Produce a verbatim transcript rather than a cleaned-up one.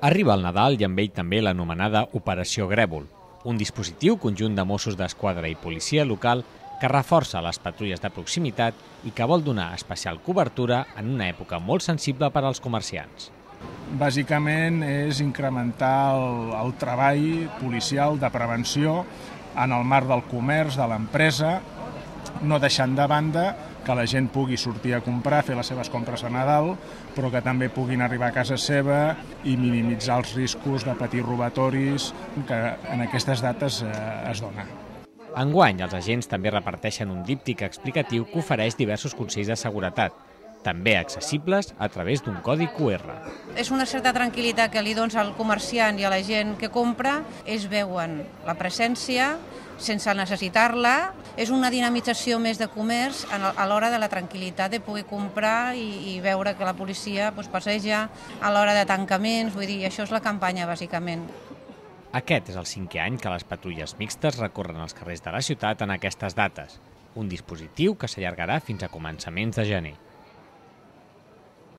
Arriba el Nadal i amb ell també l'anomenada Operació Grèvol, un dispositiu conjunt de Mossos d'Esquadra i policia local que reforça les patrulles de proximitat i que vol donar especial cobertura en una època molt sensible per als comerciants. Bàsicament és incrementar el, el treball policial de prevenció en el marc del comerç, de l'empresa, no deixant de banda que la gent pugui sortir a comprar, fer les seves compres a Nadal, però que també puguin arribar a casa seva i minimitzar els riscos de patir robatoris que en aquestes dates eh, es dona. Enguany, els agents també reparteixen un díptic explicatiu que ofereix diversos consells de seguretat, també accessibles a través d'un codi Q R. És una certa tranquil·litat que li dones al comerciant i a la gent que compra. Ells veuen la presència sense necessitar-la. És una dinamització més de comerç a l'hora de la tranquil·litat de poder comprar i, i veure que la policia doncs, passeja a l'hora de tancaments. Vull dir, això és la campanya, bàsicament. Aquest és el cinquè any que les patrulles mixtes recorren els carrers de la ciutat en aquestes dates, un dispositiu que s'allargarà fins a començaments de gener.